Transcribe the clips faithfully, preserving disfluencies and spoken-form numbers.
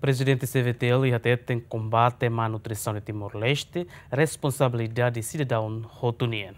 Prezidente C V T L hateten kombate malnutrisaun iha Timor-Leste responsabilidade sidadaun hotu nian.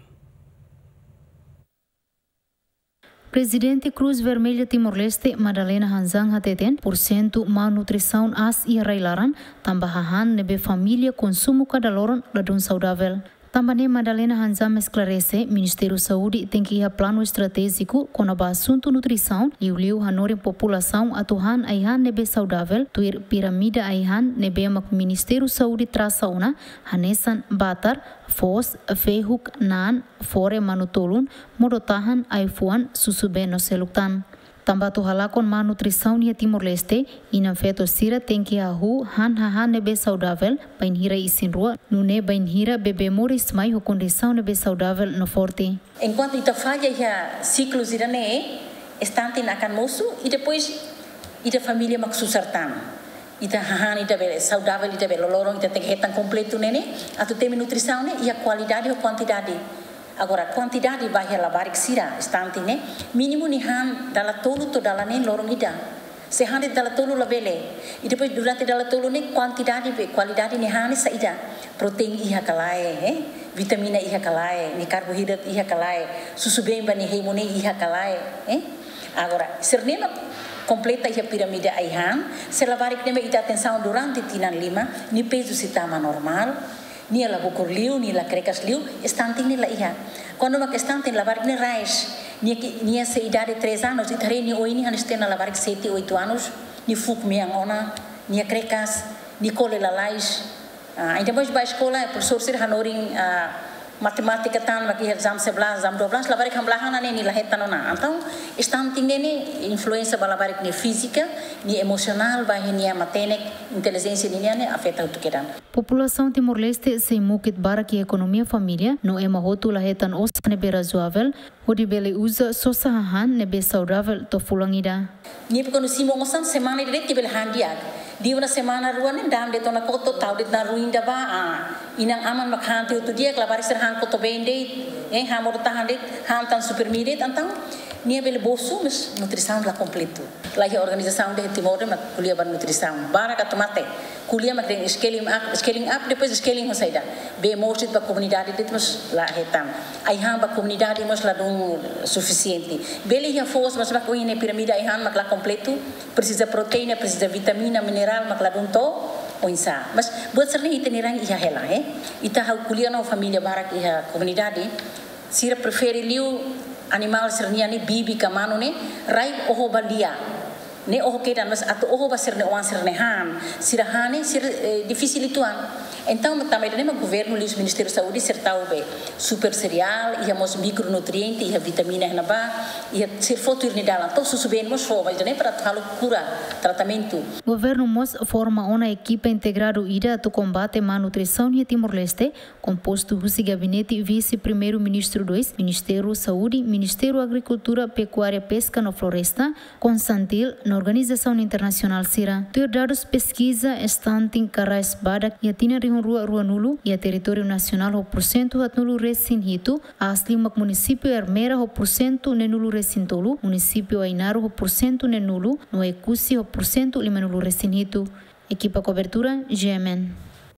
Prezidente Cruz Vermelha Timor-Leste, Madalena Hanzan hateten, pursentu malnutrisaun aas iha rai-laran, tanba hahán ne'ebé família konsumu kada loron ladún saudavel. Tanba ne'e Madalena Hanzan esklarese, Ministériu Saúde tenke iha planu estratéjiku kona-ba asuntu nutrisaun, liuliu hanorin populasaun atu han ai-han ne'ebé saudavel, tuir piramida ai-han ne'ebé mak Ministériu Saúde trasa ona, hanesan batar, foos, fehuk, naan, fore, manu-tolun, modo-tahan, ai-fuan, susubeen no seluk tan. Tanba atu halakon malnutrisaun iha Timor-Leste, inan-feto sira tenke hahú han hahán ne'ebé saudavel, bainhira isin-rua, nune'e bainhira bebé moris mai ho kondisaun ne'ebé saudavel no forte. Enkuantu ita falla iha siklu sira-ne'e, estante akan mosu, i depois ita família mak susar tan. Ita hahán ita bele saudavel, ita bele loroloron, ita tenke hetan kompletu ne'e ne'e, atu temi nutrisaun ne'e, iha kualidade ho kuantidade. Agora, kuantidade ba iha labarik sira, estante ne'e, mínimu nia han dala tolu to'o dala neen loron ida. Se han de'it dala tolu labele. I depois durante dala tolu ne'e kuantidade be kualidade nia han ne'e saida. Proteína iha ka lae, eh? Vitamina iha ka lae, nia karboidratu iha ka lae, susubeen ba nia hemu ne'e iha ka lae, eh? Agora, sira-ne'e mak kompleta iha piramida ai-han, se labarik ne'e mak ita atensaun durante tinan lima, nia pezu sei tama normál, nia la bokur liu, nia la krekas liu, estante ne'e la iha. Kuandu mak estante labarik ne'e rais, nia ki-, nia sei idade três anos, ita haree nia oin ne'e hanesan labarik sete, oito anos, nia fuuk mean ona, nia krekas, nia kole lalais. Ah, entaun, depois ba eskola, profesór sira hanorin, ah, matemátika tan, mak iha jam sebelas, jam dua belas, labarik hamlaha ona ne'e nia la hetan ona. Entaun, estante ne'e ne'e influénsia ba labarik nia fízika, nia emosionál, ba iha nia matenek, intelijénsia ninian ne'e afeta hotu kedan. Populasaun Timor-Leste sei mukit barak iha ekonomia família, no ema hotu la hetan osan ne'ebé razoavel, hodi bele uza sosa hahán ne'ebé saudavel to'o fulan ida. Nia be kuandu simu osan semana ida de'it nia bele han di'ak. Liu ona semana rua ne'e da'an de'it ona koto, tau de'it ona ruin ida ba, ah, inan-aman mak han tiha hotu di'ak, labarik sira han koto-been de'it, eh, han modo-tahan de'it, han tan Supermi de'it, entaun nia bele bosu, mas nutrisaun la kompletu. La iha organizasaun de'it iha Timor ne'e mak ko'alia ba nutrisaun. Barak atu mate. Ko'alia mak dehan scaling up, scaling up, depois scaling ho saida. Bee moos de'it ba komunidade de'it mós la hetan. Ai-han ba komunidade mós ladún sufisiente. Bele iha foos, mas mak ohin ne'e piramida ai-han mak la kompletu. Presiza proteína, presiza vitamina, minerál, mak ladún to'o oinsá. Mas buat sira-ne'e ita-nia rain iha hela, eh. Ita ha'u ko'alia no família barak iha komunidade. Sira prefere liu animál sira-nian ne'e, bibi ka manu ne'e, rai oho ba lia. Ne'e oho kedan, mas atu oho ba sira-nia oan sira-nia han, sira han ne'e, sira, eh, difisil uitoan. Entaun, tanba ida-ne'e mak governu liuhusi Ministériu Saúde sira tau be super sereál, iha mós mikronutriente, iha vitamina iha ne'ebá, iha sira fó tuir nia dalan, to'o susubeen mós fó, ba ida-ne'e para atu halo kura, tratamentu. Governu mós forma ona ekipa integradu ida atu kombate malnutrisaun iha Timor-Leste, kompostu husi Gabinete Vise-Primeiru-Ministru dois, Ministériu Saúde, Ministériu Agrikultura, Pekuária, Peska no Floresta, Konsantil, no organizasaun internasionál sira. Tuir dadus peskiza, estante ka rais badak iha tinan rihun rua ruanulu iha territóriu nasionál ho pursentu haatnulu-resin-hitu, aas liu mak munisípiu Ermera ho pursentu neenulu-resin-tolu, munisípiu Ainaro ho pursentu neenulu, no Oekusi ho pursentu limanulu-resin-hitu. Ekipa kobertura, G M N.